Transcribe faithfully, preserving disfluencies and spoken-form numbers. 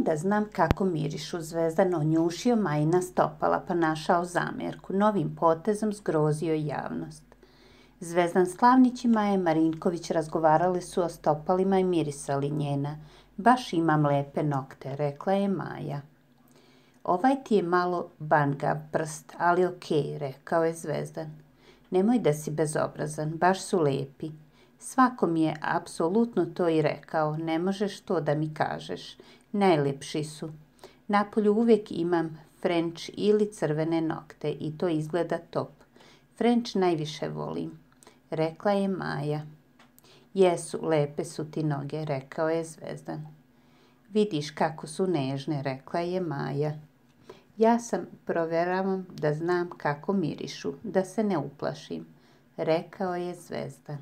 Proveravam da znam kako mirišu. Zvezdan onjušio Majina stopala pa našao zamjerku. Novim potezom zgrozio javnost. Zvezdan Slavnić i Maja Marinković razgovarali su o stopalima i mirisali njena. Baš imam lepe nokte, rekla je Maja. Ovaj ti je malo bangav prst, ali okej, rekao je Zvezdan. Nemoj da si bezobrazan, baš su lepi. Svako mi je apsolutno to i rekao, ne možeš to da mi kažeš. Najlepši su. Napolju uvijek imam French ili crvene nokte i to izgleda top. French najviše volim, rekla je Maja. Jesu, lepe su ti noge, rekao je Zvezdan. Vidiš kako su nežne, rekla je Maja. Ja sam proveravam da znam kako mirišu, da se ne uplašim, rekao je Zvezdan.